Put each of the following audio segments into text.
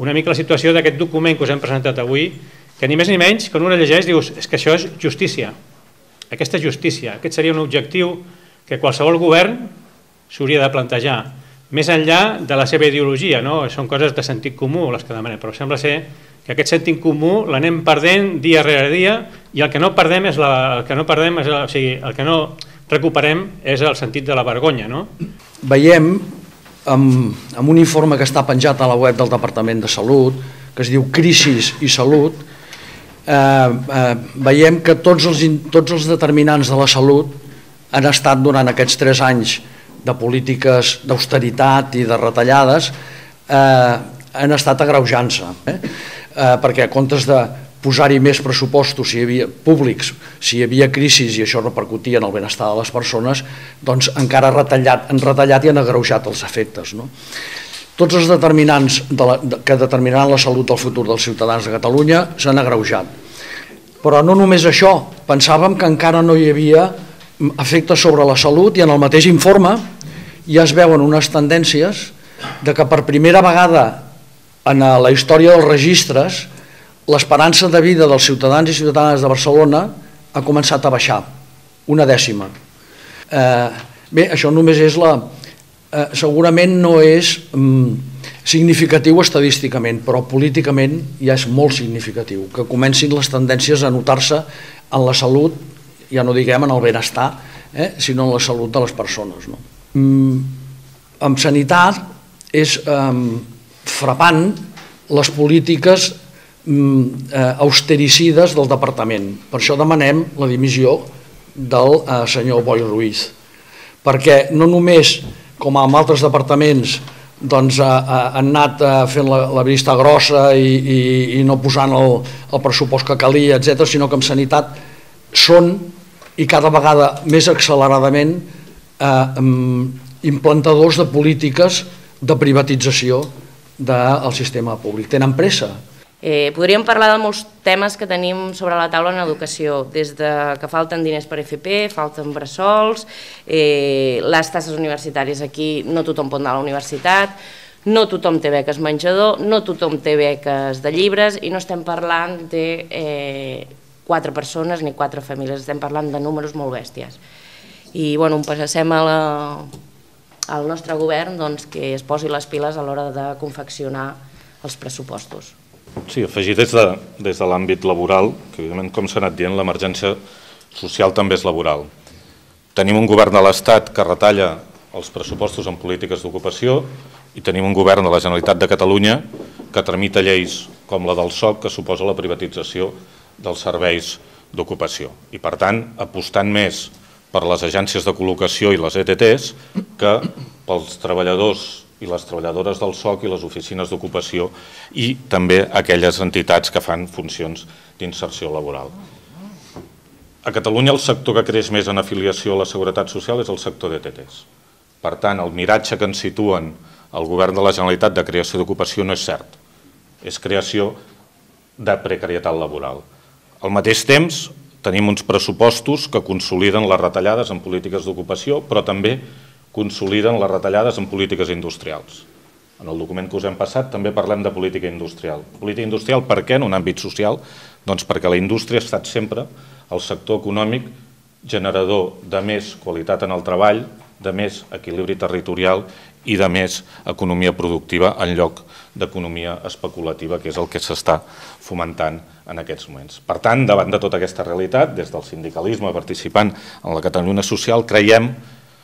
una mica la situació d'aquest document que us hem presentat avui, que ni més ni menys, quan un llegeix, dius, és que això és justícia. Aquesta és justícia. Aquest seria un objectiu que qualsevol govern s'hauria de plantejar, més enllà de la seva ideologia, no? Són coses de sentit comú les que demanem, però sembla ser que aquest sentit comú l'anem perdent dia rere dia i el que no perdem és el que no recuperem és el sentit de la vergonya, no? Veiem amb un informe que està penjat a la web del Departament de Salut, que es diu Crisis i Salut, veiem que tots els determinants de la salut han estat durant aquests 3 anys de polítiques d'austeritat i de retallades han estat agreujant-se, perquè a comptes de posar-hi més pressupostos públics, si hi havia crisis i això repercutia en el benestar de les persones, doncs encara han retallat i han agreujat els efectes. Tots els determinants que determinaran la salut del futur dels ciutadans de Catalunya s'han agreujat. Però no només això, pensàvem que encara no hi havia efectes sobre la salut i en el mateix informe ja es veuen unes tendències de que per primera vegada en la història dels registres l'esperança de vida dels ciutadans i ciutadanes de Barcelona ha començat a baixar, 1/10. Bé, això només és segurament no és significatiu estadísticament, però políticament ja és molt significatiu, que comencin les tendències a notar-se en la salut, ja no diguem en el benestar, sinó en la salut de les persones. En sanitat és frapant les polítiques austericides del departament. Per això demanem la dimissió del senyor Boi Ruiz, perquè no només, com en altres departaments, han anat fent la vista grossa i no posant el pressupost que calia, etc., sinó que en sanitat són, i cada vegada més acceleradament, implantadors de polítiques de privatització del sistema públic. Tenen pressa. Podríem parlar de molts temes que tenim sobre la taula en educació, des que falten diners per FP, falten bressols, les taxes universitàries aquí, no tothom pot anar a la universitat, no tothom té beques menjador, no tothom té beques de llibres i no estem parlant de 4 persones ni 4 famílies, estem parlant de números molt bèsties. I passem al nostre govern que es posi les piles a l'hora de confeccionar els pressupostos. Sí, afegir des de l'àmbit laboral, que evidentment, com s'ha anat dient, l'emergència social també és laboral. Tenim un govern de l'Estat que retalla els pressupostos en polítiques d'ocupació i tenim un govern de la Generalitat de Catalunya que tramita lleis com la del SOC que suposa la privatització dels serveis d'ocupació. I per tant, apostant més per les agències de col·locació i les ETTs que pels treballadors i les treballadores del SOC i les oficines d'ocupació i també aquelles entitats que fan funcions d'inserció laboral. A Catalunya el sector que creix més en afiliació a la Seguretat Social és el sector d'ETTs. Per tant, el miratge que ens situen el govern de la Generalitat de creació d'ocupació no és cert. És creació de precarietat laboral. Al mateix temps, tenim uns pressupostos que consoliden les retallades en polítiques d'ocupació, però també consoliden les retallades en polítiques industrials. En el document que us hem passat també parlem de política industrial. Política industrial per què en un àmbit social? Doncs perquè la indústria ha estat sempre el sector econòmic generador de més qualitat en el treball, de més equilibri territorial i de més economia productiva en lloc d'economia especulativa, que és el que s'està fomentant en aquests moments. Per tant, davant de tota aquesta realitat, des del sindicalisme participant en la Catalunya social, creiem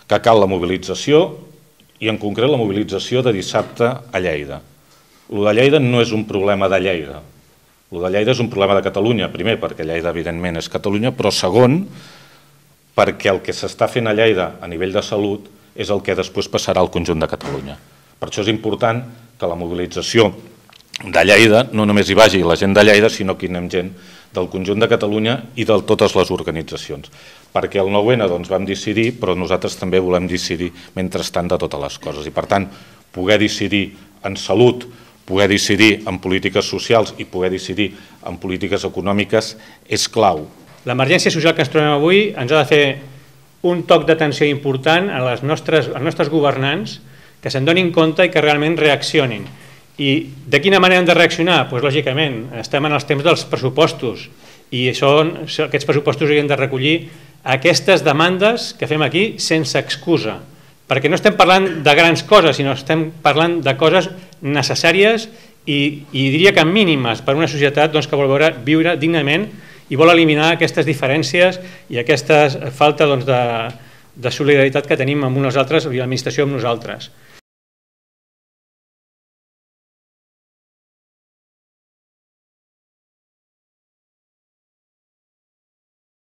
que cal la mobilització i en concret la mobilització de dissabte a Lleida. El de Lleida no és un problema de Lleida. El de Lleida és un problema de Catalunya, primer perquè Lleida evidentment és Catalunya, però segon perquè el que s'està fent a Lleida a nivell de salut és el que després passarà al conjunt de Catalunya. Per això és important que la mobilització de Lleida no només hi vagi la gent de Lleida, sinó que hi anem gent del conjunt de Catalunya i de totes les organitzacions. Perquè el 9-N vam decidir, però nosaltres també volem decidir mentrestant de totes les coses. I per tant, poder decidir en salut, poder decidir en polítiques socials i poder decidir en polítiques econòmiques és clau. L'emergència social que ens trobem avui ens ha de fer un toc d'atenció important als nostres governants, que se'n donin compte i que realment reaccionin. I de quina manera hem de reaccionar? Doncs lògicament, estem en els temps dels pressupostos i aquests pressupostos haurien de recollir aquestes demandes que fem aquí sense excusa, perquè no estem parlant de grans coses, sinó estem parlant de coses necessàries i diria que mínimes per a una societat que vol viure dignament i vol eliminar aquestes diferències i aquesta falta de solidaritat que tenim amb uns altres i l'administració amb nosaltres.